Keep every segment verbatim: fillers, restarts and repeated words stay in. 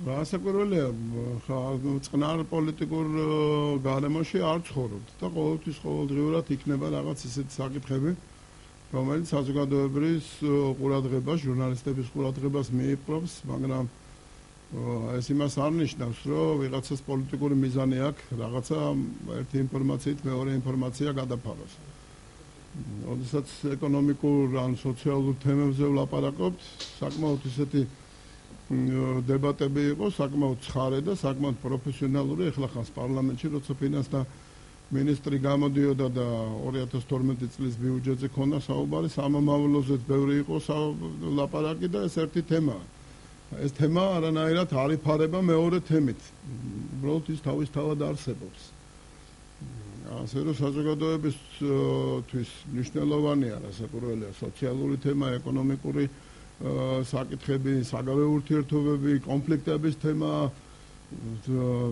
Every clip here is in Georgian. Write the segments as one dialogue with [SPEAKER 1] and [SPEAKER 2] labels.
[SPEAKER 1] Რასაკვირველია, წყნარ პოლიტიკურ გარემოში არ ცხოვრობთ და ყოველთვის ყოველდღიურად იქნება რაღაც ისეთი საკითხები, რომელიც საზოგადოებრივ ყურადღებას, ჟურნალისტების ყურადღებას მიიპყრობს, მაგრამ ეს იმას არ ნიშნავს, რომ ვიღაცას პოლიტიკური მიზანი აქვს, რაღაცა ერთი ინფორმაციით მეორე ინფორმაცია გადაფაროს. როდესაც ეკონომიკურ ან სოციალურ თემებზე ვლაპარაკობთ, საკმაოდ ისეთი დებატები იყო, საკმაოდ ცხარე და საკმაოდ პროფესიონალური. ეხლა ხანს პარლამენტში, როცა ფინანსთა მინისტრი გამოდიოდა და ორი ათას თორმეტი წლის ბიუჯეტზე ქონდა საუბარი, სამომავლოზეც ბევრი იყო ლაპარაკი და ეს ერთი თემაა. ეს თემა არანაირად არ იფარება მეორე თემით. უბრალოდ ის თავის თავად არსებობს. ასე რომ საზოგადოებისთვის მნიშვნელოვანია რასაკვირველია სოციალური თემა, ეკონომიკური საკითხები, საგარეო ურთიერთობები, კონფლიქტების თემა,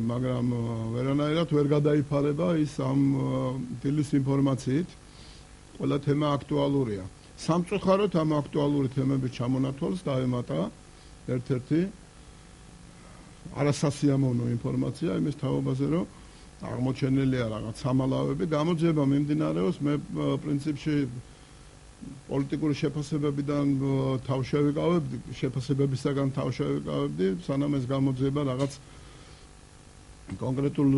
[SPEAKER 1] მაგრამ ვერანაირად ვერ გადაიფარება ის ამ დილის ინფორმაციით. ყველა თემა აქტუალურია. სამწუხაროდ ამ აქტუალური თემების ჩამონათვალს დაემატა ერთ-ერთი არასასიამოვნო ინფორმაცია იმის თაობაზე, რომ აღმოჩენილია რაღაც სამალავები, გამოძიება მიმდინარეობს, მე პრინციპში პოლიტიკური შეფასებებიდან თავშევიკავებდი, შეფასებებისაგან თავშევიკავებდი, სანამ ეს გამოძიება რაღაც კონკრეტულ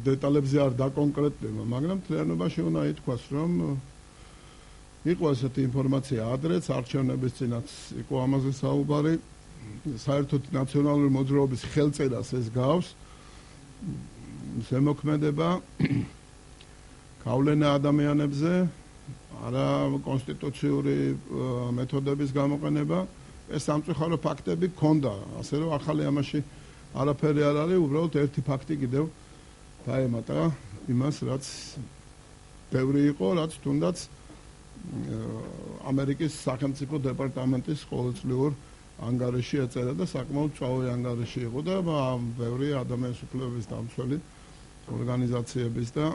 [SPEAKER 1] დეტალებზე არ დაკონკრეტდება, მაგრამ მთლიანობაში უნდა ითქვას, რომ იყო ესეთი ინფორმაცია ადრეც, არჩევნების წინაც იყო ამაზე საუბარი, საერთოდ ნაციონალური მოძრაობის ხელწერას ეს გავს, ზემოქმედება, გავლენა ადამიანებზე, არა კონსტიტუციური მეთოდების გამოყენება, ეს სამწუხარო ფაქტები ქონდა, ასე რომ ახალი ამაში არაფერი არ არის, უბრალოდ ერთი ფაქტი კიდევ დაემატა იმას, რაც ბევრი იყო, რაც თუნდაც ამერიკის სახელმწიფო დეპარტამენტის ყოველწლიურ ანგარიში ეწერა და საკმაოდ ჭავლი ანგარიში იყო და ბევრი ადამიანის უფლებების დამცველი ორგანიზაციების და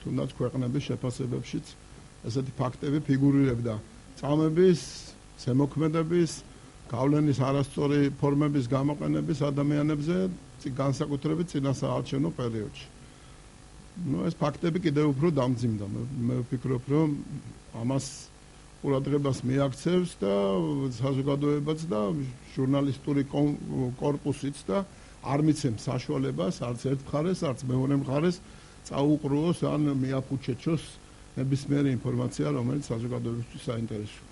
[SPEAKER 1] თუნდაც ქვეყნების შეფასებებშიც ესეთი ფაქტები ფიგურირებდა. წამების, ზემოქმედების, გავლენის არასწორი ფორმების გამოყენების ადამიანებზე განსაკუთრებით წინასაარჩევნო პერიოდში. ნუ ეს ფაქტები კიდევ უფრო დამძიმდა. მე ვფიქრობ, რომ ამას ყურადღებას მიაქცევს და საზოგადოებაც და ჟურნალისტური კორპუსიც და არ მიცემს საშუალებას არც ერთ მხარეს, არც მეორე მხარეს წაუყრუოს ან მიაფუჩეჩოს ნებისმიერი ინფორმაცია, რომელიც საზოგადოებისთვის საინტერესოა.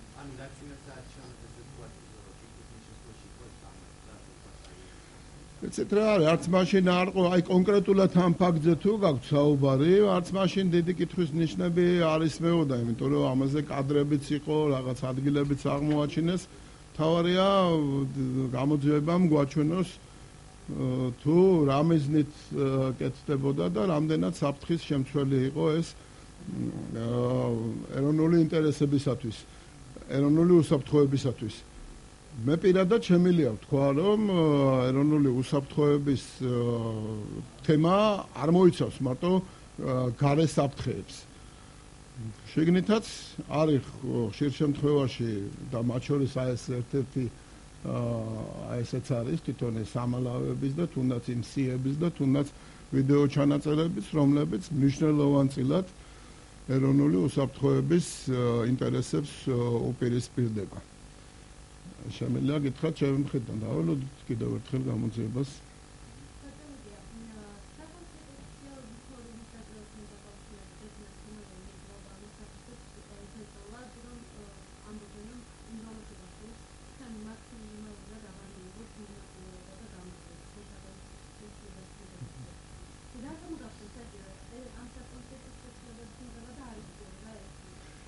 [SPEAKER 1] ეცეტრა არც მაშინ არ ყო, აი კონკრეტულად ამ ფაქტზე თუ გაქვთ საუბარი, არც მაშინ დიდი კითხვის ნიშნები არ ისმეოდა, იმიტომ რომ ამაზე კადრებიც იყო, რაღაც ადგილებიც აღმოაჩინეს. თავარია გამოძიებამ გვაჩვენოს თუ რა მიზნით კეთდებოდა და რამდენად საფრთხის შემცველი იყო ეს ეროვნული ინტერესებისათვის, ეროვნული უსაფრთხოებისათვის. მე პირადად შემიძლია ვთქვა, რომ ეროვნული უსაფრთხოების თემა არ მოიცავს მარტო გარე საფრთხეებს. შეგნითაც არის ხშირ შემთხვევაში და მათ შორის ეს ერთ-ერთი აი ესეც არის თვითონ ეს სამალავების და თუნდაც იმ სიების და თუნდაც ვიდეო ჩანაწერების, რომლებიც მნიშვნელოვანწილად ეროვნული უსაფრთხოების ინტერესებს უპირისპირდება. შემიძლია გითხრათ ჩემი მხრიდან დავალოდით კიდევ ერთხელ გამოძიებას.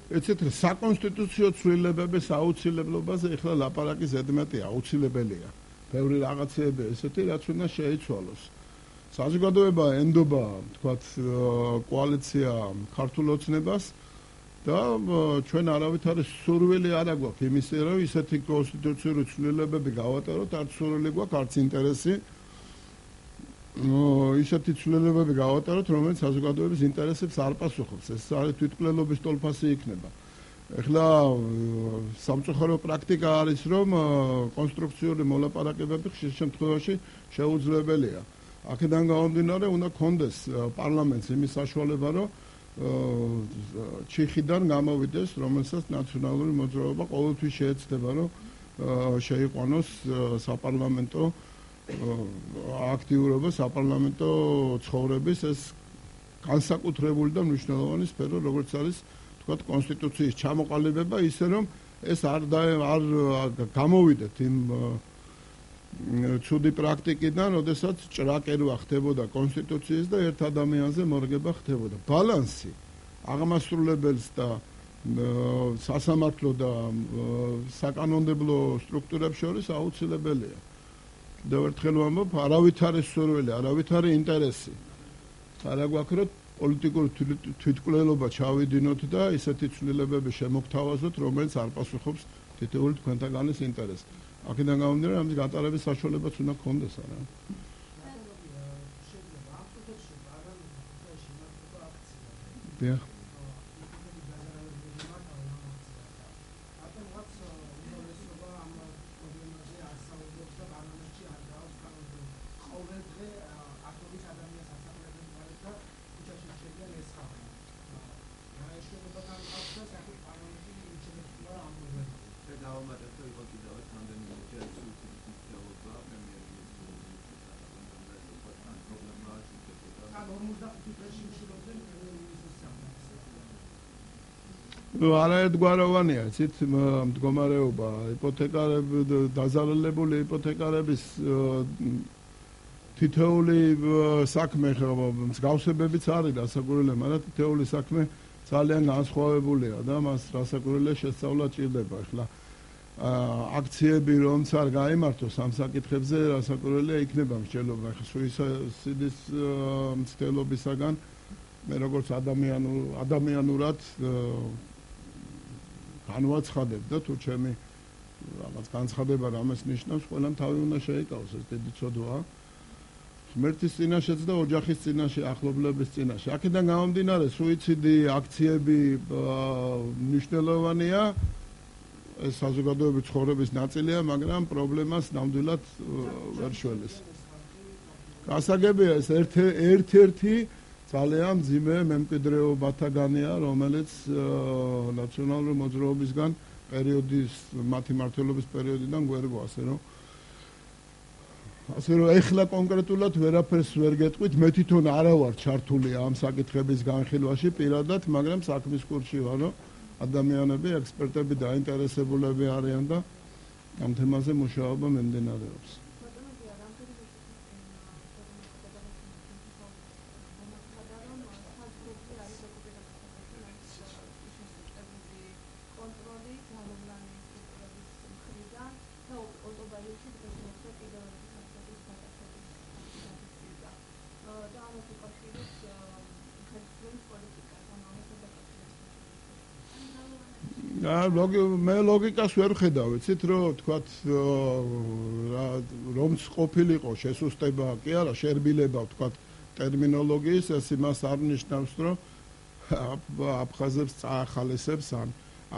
[SPEAKER 1] ეცეთ საკონსტიტუციო ცვლილებების აუცილებლობაზე ეხლა ლაპარაკი ზედმეტი აუცილებელია. ბევრი რაღაცეები ესეთი, რაც უნდა შეიცვალოს. საზოგადოება ენდობა, თქვათ, კოალიცია ქართულ ოცნებას და ჩვენ არავითარი სურვილი არ აქვს იმისა, რომ ისეთი კონსტიტუციური ცვლილებები გავატაროთ, არც სურვილი გვაქვს, არც ინტერესი. ისეთი ცვლილებები გავატაროთ, რომელიც საზოგადოების ინტერესებს არ პასუხობს. ეს არის თვითმკვლელობის ტოლფასი იქნება. ეხლა სამწუხარო პრაქტიკა არის, რომ კონსტრუქციული მოლაპარაკებები ხშირ შემთხვევაში შეუძლებელია. აქედან გამომდინარე, უნდა გქონდეს პარლამენტს იმის საშუალება, რომ ჩიხიდან გამოვიდეს, რომელსაც ნაციონალური მოძრაობა ყოველთვის შეეცდება, რომ შეიყვანოს საპარლამენტო აქტიურობა, საპარლამენტო ცხოვრების ეს განსაკუთრებული და მნიშვნელოვანი სფერო, როგორც არის თქვათ კონსტიტუციის ჩამოყალიბება, ისე რომ ეს არ არ გამოვიდეთ იმ ცუდი პრაქტიკიდან, როდესაც ჭრაკერვა ხდებოდა კონსტიტუციის და ერთ ადამიანზე მორგება ხდებოდა. ბალანსი აღმასრულებელს და სასამართლო და საკანონმდებლო სტრუქტურებს შორის აუცილებელია. და ერთხელ ვამბობ, არავითარი სურვილი, არავითარი ინტერესი არ აქვს, რომ პოლიტიკური თვითმკვლელობა ჩავიდინოთ და ისეთი ცვლილებები შემოგთავაზოთ, რომელიც არ პასუხობს თითოეული თქვენთაგანის ინტერესს. აქედან გამომდინარე, ამის გატარების საშუალებაც უნდა გქონდეს, არა? დიახ. არაერთგვაროვანია, იცით, მდგომარეობა, იპოთეკარები, დაზარალებული იპოთეკარების თითოეული საქმე, მსგავსებებიც არის რასაკვირველია, მაგრამ თითოეული საქმე ძალიან განსხვავებულია და მას რასაკვირველია შესწავლა ჭირდება. ახლა აქციები რომც არ გაიმართოს ამ საკითხებზე, რასაკვირველია იქნება მსჯელობა. ახლა სუიციდის მცდელობისაგან მე როგორც ადამიანურად განვაცხადებ და თუ ჩემი რაღაც განცხადება რამეს ნიშნავს, ყველამ თავი უნდა შეიკავოს, ეს დიდი ცოდვაა. ღმერთის წინაშეც და ოჯახის წინაშე, ახლობლების წინაშე. აქედან გამომდინარე, სუიციდი, აქციები მნიშვნელოვანია, ეს საზოგადოების ცხოვრების ნაწილია, მაგრამ პრობლემას ნამდვილად ვერ შველეს. გასაგებია ეს ერთ-ერთი ძალიან მძიმე მემკვიდრეობათაგანია, რომელიც ნაციონალური მოძრაობისგან პერიოდის, მათი მმართველობის პერიოდიდან გვერგო, ასე რომ ასე რომ ეხლა კონკრეტულად ვერაფერს ვერ გეტყვით, მე თვითონ არა ვარ ჩართული ამ საკითხების განხილვაში პირადად, მაგრამ საქმის კურსში ვარ, რომ ადამიანები, ექსპერტები დაინტერესებულები არიან და ამ თემაზე მუშაობა მიმდინარეობს. მე ლოგიკას ვერ ხედავ, იცით, რომ თქვათ რომც ყოფილიყო შესუსტება, კი არა, შერბილება, თქვათ ტერმინოლოგიის, ეს იმას არ ნიშნავს, რომ აფხაზებს წაახალისებს ან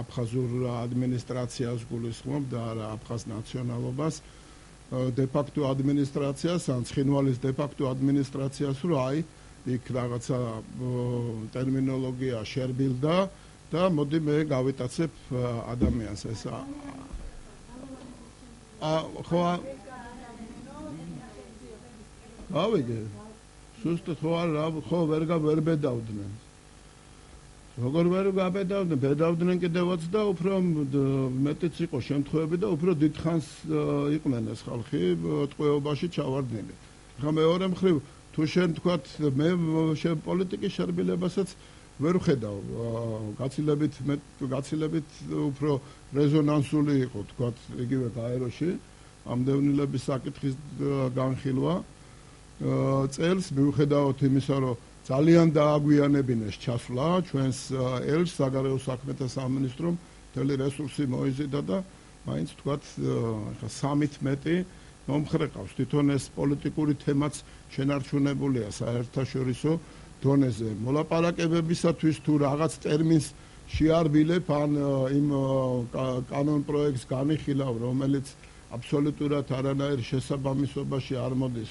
[SPEAKER 1] აფხაზურ ადმინისტრაციას გულისხმობ და არა აფხაზ ნაციონალობას, დე-ფაქტო ადმინისტრაციას ან ცხინვალის დე-ფაქტო ადმინისტრაციას, რომ აი იქ რაღაცა ტერმინოლოგია შერბილდა და მოდი მე გავიტაცებ ადამიანს ეს ა ხო ავიგე სუსტად ხო არა ხო ვერ ვერ ბედავდნენ როგორ ვერ გაბედავდნენ ბედავდნენ კიდევაც და უფრო მეტიც იყო შემთხვევები და უფრო დიდხანს იყვნენ ეს ხალხი ტყვეობაში ჩავარდნილი. ხა მეორე მხრივ თუ შენ თქვათ მე პოლიტიკის შერბილებასაც ვერ ვხედავ გაცილებით გაცილებით უფრო რეზონანსული იყო თქვა იგივე გაეროში ამდევნილების საკითხის განხილვა წელს მიუხედავად იმისა რომ ძალიან დააგვიანებინეს ჩასვლა ჩვენს ელჩს საგარეო საქმეთა სამინისტრომ მთელი რესურსი მოიზიდა და მაინც თქვათ ხა სამით მეტი მომხრეყავს თვითონ ეს პოლიტიკური თემაც შენარჩუნებულია საერთაშორისო დონეზე მოლაპარაკებებისათვის თუ რაღაც ტერმინს შეარბილებ ან იმ კანონ პროექტს განიხილავ რომელიც აბსოლუტურად არანაირ შესაბამისობაში არ მოდის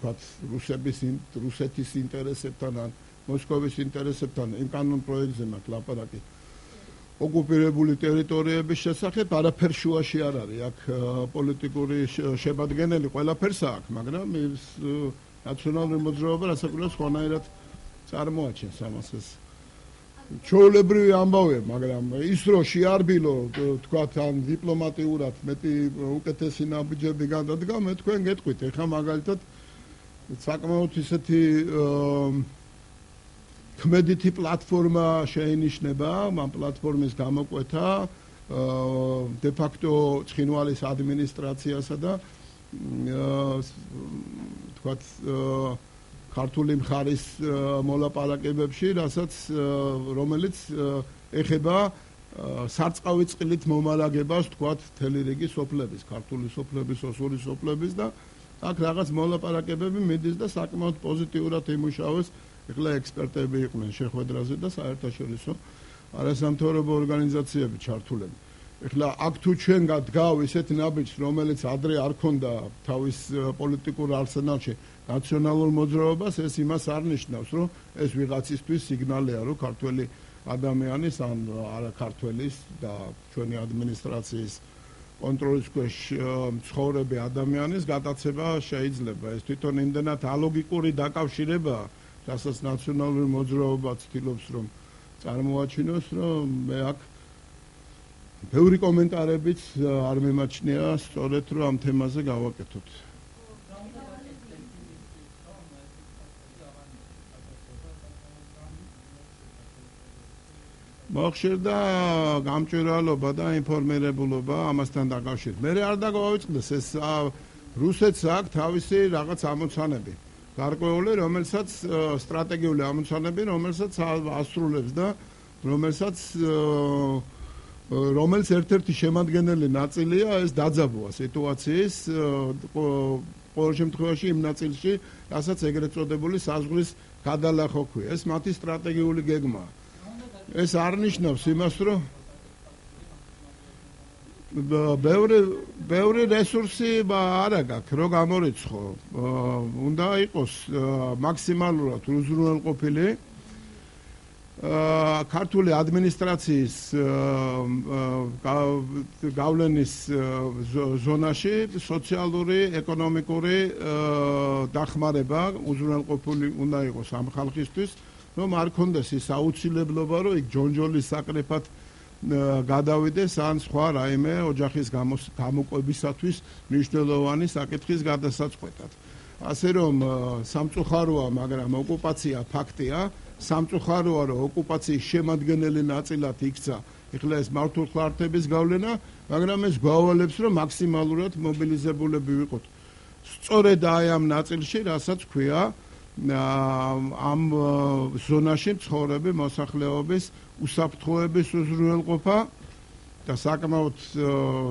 [SPEAKER 1] ვთქვათ რუსების რუსეთის ინტერესებთან ან მოსკოვის ინტერესებთან იმ კანონ პროექტზე მაქვს ლაპარაკი ოკუპირებული ტერიტორიების შესახებ არაფერ შუაში არ არის აქ პოლიტიკური შებადგენელი ყველაფერს აქვს მაგრამ ის ნაციონალური მოძრაობა რასაკვირველს ხონაერად წარმოაჩენს ამას ეს ჩვეულებრივი ამბავია მაგრამ ის რომ შეარბილო თქვათ ან დიპლომატიურად მეტი უკეთესი ნაბიჯები გადადგა მე თქვენ გეტყვით ეხლა მაგალითად საკმაოდ ისეთი ქმედითი პლატფორმა შეინიშნება ამ პლატფორმის გამოკვეთა დე ფაქტო ცხინვალის ადმინისტრაციასა და თქვათ ქართული მხარის მოლაპარაკებებში რასაც რომელიც ეხება სარწყავი წყლით მომალაგებას თქვათ თელი რიგი სოფლების ქართული სოფლების ოსური სოფლების და აქ რაღაც მოლაპარაკებები მიდის და საკმაოდ პოზიტიურად იმუშავეს ეხლა ექსპერტები იყვნენ შეხვედრაზე და საერთაშორისო არასამთავრობო ორგანიზაციები ჩართულები. ეხლა აქ თუ ჩვენ გადგავ ისეთ ნაბიჯს, რომელიც ადრე არ ქონდა თავის პოლიტიკურ არსენალში ნაციონალურ მოძრაობას, ეს იმას არ ნიშნავს, რომ ეს ვიღაცისთვის სიგნალია, რომ ქართველი ადამიანის ან არა ქართველის და ჩვენი ადმინისტრაციის კონტროლის ქვეშ მცხოვრები ადამიანის გადაცემა შეიძლება. ეს თვითონ იმდენად ალოგიკური დაკავშირებაა რასაც ნაციონალური მოძრაობა ცდილობს რომ წარმოაჩინოს რომ მე აქ ბევრი კომენტარებიც არ მიმაჩნია სწორედ რომ ამ თემაზე გავაკეთოთ. მოხშირდა გამჭვირვალობა და ინფორმირებულობა ამასთან დაკავშირებით. მე არ დაგვავიწყდეს ეს რუსეთს აქვს თავისი რაღაც ამოცანები. გარკვეული, რომელსაც სტრატეგიული ამოცანები, რომელსაც ასრულებს და რომელსაც რომელიც ერთ-ერთი შემადგენელი ნაწილია ეს დაძაბვა სიტუაციის ყოველ შემთხვევაში იმ ნაწილში, რასაც ეგრეთ წოდებული საზღვრის გადალახვა ქვია. ეს მათი სტრატეგიული გეგმაა. ეს არ ნიშნავს იმას, რომ ბევრი ბევრი რესურსი არა გაქვს, რომ გამორიცხო. უნდა იყოს მაქსიმალურად უზრუნველყოფილი ქართული ადმინისტრაციის გავლენის ზონაში სოციალური, ეკონომიკური დახმარება უზრუნველყოფილი უნდა იყოს ამ ხალხისთვის, რომ არ კონდეს ის აუცილებლობა, რომ იქ ჯონჯოლის საკრეფად გადავიდეს ან სხვა რაიმე ოჯახის გამოყვებისათვის მნიშვნელოვანი საკითხის გადასაწყვეტად. ასე რომ სამწუხაროა, მაგრამ ოკუპაცია ფაქტია, სამწუხაროა, რომ ოკუპაციის შემადგენელი ნაწილად იქცა ეხლა ეს მართლმხლართების გავლენა, მაგრამ ეს გვავალებს, რომ მაქსიმალურად მობილიზებულები ვიყოთ. სწორედ აი ამ ნაწილში, რასაც ქვია ამ ზონაში მცხოვრები მოსახლეობის უსაფრთხოების უზრუნველყოფა და საკმაოდ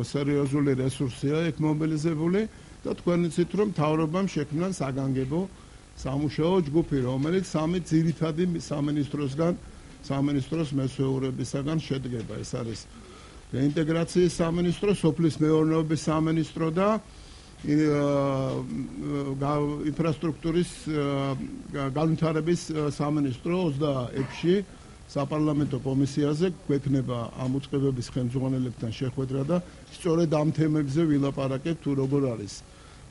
[SPEAKER 1] სერიოზული რესურსია იქ მობილიზებული და თქვენ იცით რომ მთავრობამ შექმნა საგანგებო სამუშაო ჯგუფი, რომელიც სამი ძირითადი სამინისტროსგან სამინისტროს მესვეურებისაგან შედგება. ეს არის რეინტეგრაციის სამინისტრო, სოფლის მეურნეობის სამინისტრო და ინფრასტრუქტურის განვითარების სამინისტრო ოცდაექვსში საპარლამენტო კომისიაზე გვექნება ამ უწყებების ხელმძღვანელებთან შეხვედრა და სწორედ ამ თემებზე ვილაპარაკებთ თუ როგორ არის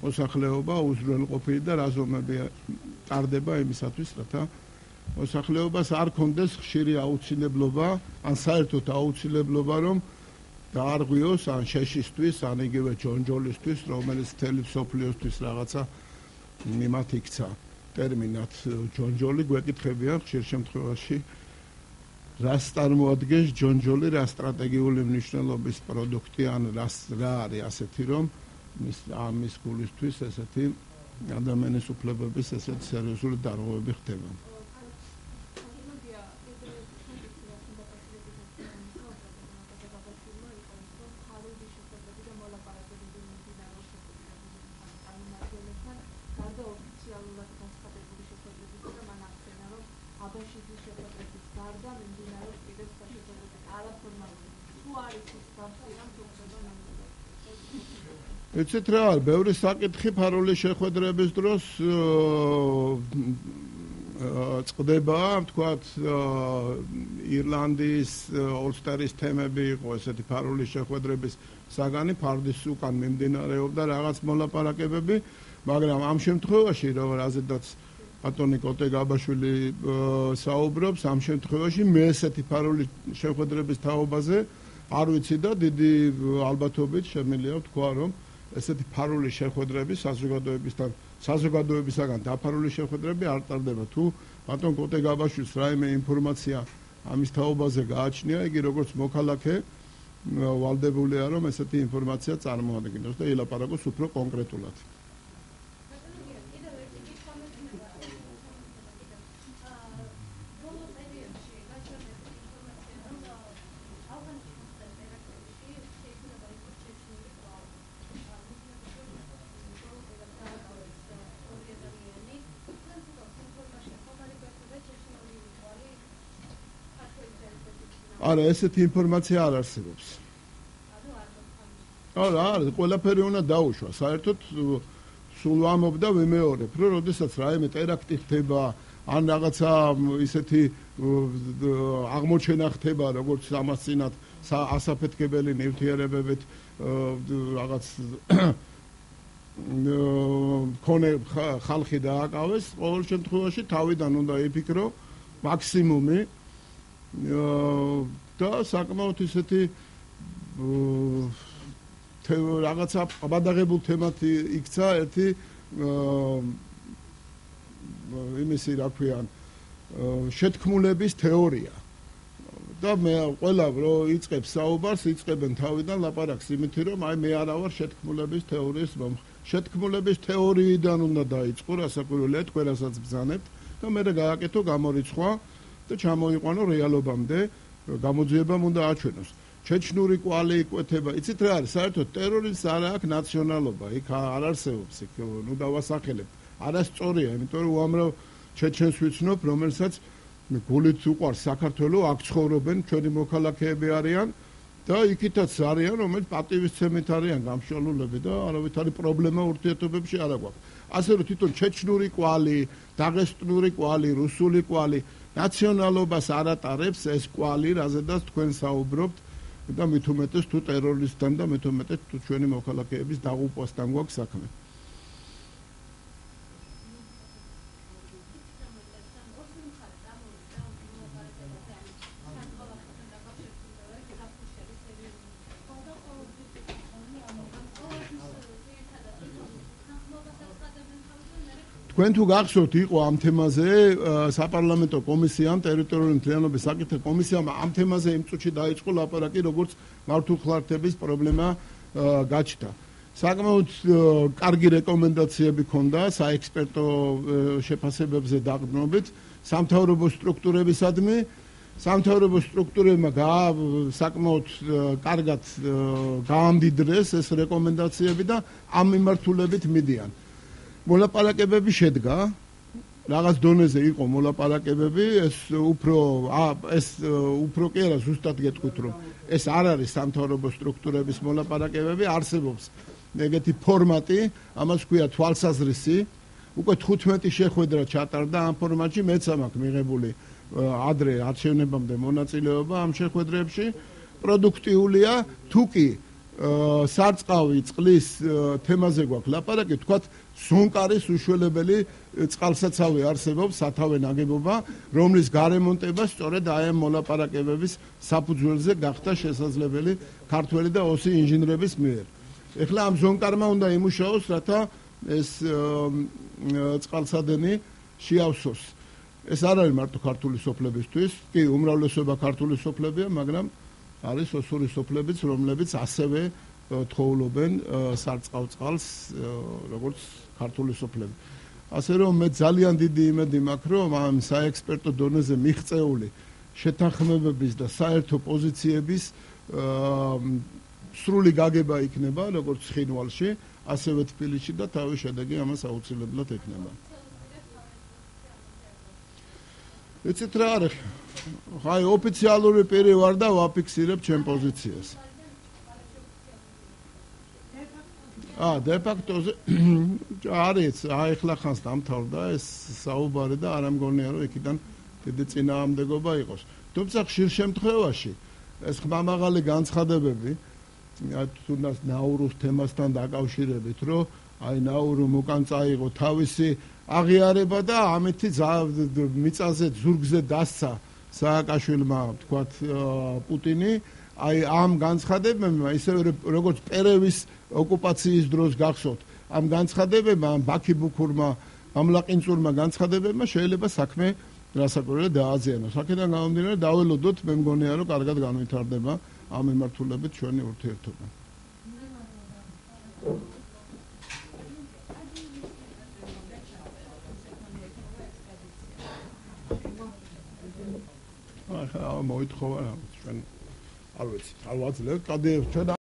[SPEAKER 1] მოსახლეობა უზრუნველყოფილი და რა ზომები ტარდება იმისათვის, რათა მოსახლეობას არ კონდეს ხშირი აუცილებლობა, ან საერთოდ აუცილებლობა, რომ დაარღვიოს ან შეშისთვის, ან იგივე ჯონჯოლისთვის, რომელიც მთელი მსოფლიოსთვის რაღაცა მიმართ იქცა. ტერმინად ჯონჯოლი გვეკითხებიან ხშირ შემთხვევაში რას წარმოადგენს ჯონჯოლი, რა სტრატეგიული მნიშვნელობის პროდუქტი ან რას რა არის ასეთი რომ მის ამის გულისთვის ესეთი ადამიანის უფლებების ესეთი სერიოზული დარღვევები ხდება. იცით რა არის, ბევრი საკითხი ფარული შეხვედრების დროს წყდება, თქვათ ირლანდიის ოლსტერის თემები იყო ესეთი ფარული შეხვედრების საგანი, ფარდის უკან მიმდინარეობდა რაღაც მოლაპარაკებები, მაგრამ ამ შემთხვევაში რომ რაზედაც ბატონი კოტე გაბაშვილი საუბრობს, ამ შემთხვევაში მე ესეთი ფარული შეხვედრების თაობაზე არ ვიცი და დიდი ალბათობით შემიძლია ვთქვა, რომ ესეთი ფარული შეხვედრები საზოგადოებისთან საზოგადოებისაგან დაფარული შეხვედრები არ ტარდება. თუ ბატონ კოტე გაბაშვილს რაიმე ინფორმაცია ამის თაობაზე გააჩნია, იგი როგორც მოქალაქე ვალდებულია, რომ ესეთი ინფორმაცია წარმოადგინოს და ილაპარაკოს უფრო კონკრეტულად. არა, ესეთი ინფორმაცია არ არსებობს. არა, არა, ყველაფერი უნდა დაუშვა. საერთოდ სულ ვამბობ და ვიმეორებ, რომ როდესაც რაიმე ტერაქტი ხდება, ან რაღაცა ისეთი აღმოჩენა ხდება, როგორც ამას წინათ ასაფეთქებელი ნივთიერებებით რაღაც მქონე ხალხი დააკავეს, ყოველ შემთხვევაში თავიდან უნდა იფიქრო მაქსიმუმი და საკმაოდ ისეთი რაღაცა გადაღებულ თემად იქცა ერთი იმისი რა ქვიან შეთქმულების თეორია და მე ყველა რო იწყებს საუბარს იწყებენ თავიდან ლაპარაკს იმითი რომ აი მე არა ვარ შეთქმულების თეორიის მომხრე შეთქმულების თეორიიდან უნდა დაიწყო რასაკვირველია თქვენ რასაც ბრძანებთ და მე გააკეთო გამორიცხვა და ჩამოიყვანო რეალობამდე გამოძიებამ უნდა აჩვენოს ჩეჩნური კვალი იკვეთება იცით რა არის საერთოდ ტერორიზმს არ აქვს ნაციონალობა იქ არ არსებობს იქ ნუ დავასახელებთ არასწორია იმიტომ რომ უამრავ ჩეჩენს ვიცნობ რომელსაც გულით უყვარს საქართველოს აქ ცხოვრობენ ჩვენი მოქალაქეები არიან და იქითაც არიან რომელიც პატივისცემით არიან გამშვალულები და არავითარი პრობლემა ურთიერთობებში არ აქვს ასე რომ თვითონ ჩეჩნური კვალი დაღესტნური კვალი რუსული კვალი ნაციონალობას არ ატარებს ეს კვალი რაზედაც თქვენ საუბრობთ და მით უმეტეს თუ ტერორისტთან და მით უმეტეს თუ ჩვენი მოქალაქეების დაღუპვასთან გვაქვს საქმე თქვენ თუ გახსოვთ იყო ამ თემაზე საპარლამენტო კომისიამ ტერიტორიული მთლიანობის საკითხთა კომისიამ ამ თემაზე იმ წუთში დაიწყო ლაპარაკი როგორც მართლმხლართების პრობლემა გაჩნდა საკმაოდ კარგი რეკომენდაციები ჰქონდა საექსპერტო შეფასებებზე დაყრდნობით სამთავრობო სტრუქტურებისადმი სამთავრობო სტრუქტურებმა საკმაოდ კარგად გაამდიდრეს ეს რეკომენდაციები და ამ მიმართულებით მიდიან მოლაპარაკებები შედგა რაღაც დონეზე იყო მოლაპარაკებები ეს უფრო ეს უფრო კი არა ზუსტად გეტყვით რომ ეს არ არის სამთავრობო სტრუქტურების მოლაპარაკებები არსებობს ეგეთი ფორმატი ამას ქვია თვალსაზრისი უკვე თხუთმეტი შეხვედრა ჩატარდა ამ ფორმატში მეც მაქვს მიღებული ადრე არჩევნებამდე მონაწილეობა ამ შეხვედრებში პროდუქტიულია თუკი სარწყავი წყლის თემაზე გვაქვს ლაპარაკი თქვათ სუნკარის უშველებელი წყალსაცავი არსებობს სათავე ნაგებობა რომლის გარემონტება სწორედ აი ამ მოლაპარაკებების საფუძველზე გახდა შესაძლებელი ქართველი და ოსი ინჟინრების მიერ ეხლა ამ ზონკარმა უნდა იმუშაოს რათა ეს წყალსადენი შეავსოს. ეს არ არის მარტო ქართული სოფლებისთვის, კი, უმრავლესობა ქართული სოფლებია, მაგრამ არის ოსური სოფლებიც, რომლებიც ასევე თხოვლობენ სარწყავ წყალს, როგორც ქართული სოფლები. ასე რომ მე ძალიან დიდი იმედი მაქვს, რომ ამ საექსპერტო დონეზე მიღწეული შეთანხმებების და საერთო პოზიციების სრული გაგება იქნება, როგორც ცხინვალში, ასევე თბილისში და თავის შედეგი ამას აუცილებლად ექნება. იცით რა არის? აი ოფიციალური პირი ვარ და ვაფიქსირებ ჩემ პოზიციას. აა დე-ფაქტოზე არის, აი ახლა ხანს დამთავრდა ეს საუბარი და არ ამგონია რომ იქიდან დიდი წინააღმდეგობა იყოს. თუმცა ხშირ შემთხვევაში ეს ხმამაღალი განცხადებები თუნდაც ნაურუს თემასთან დაკავშირებით, რომ აი ნაურუმ უკან წაიღო თავისი აღიარება და ამითი მიწაზე ზურგზე დასცა სააკაშვილმა, თქვათ პუტინი, აი ამ განცხადებებმა, ისე როგორც პერევის ოკუპაციის დროს გახსოვთ, ამ განცხადებებმა, ბაქი ბუქურმა, ამლაყინწურმა განცხადებებმა შეიძლება საქმე რასაკვირველად დააზიანოს. აქედან გამომდინარე დაველოდოთ, მე მგონია რომ კარგად განვითარდება ამ მიმართულებით ჩვენი ურთიერთობა. ახლა მოითხოვა ჩვენ არ ვიცი, არ ვაძლევ, კადე ჩვენ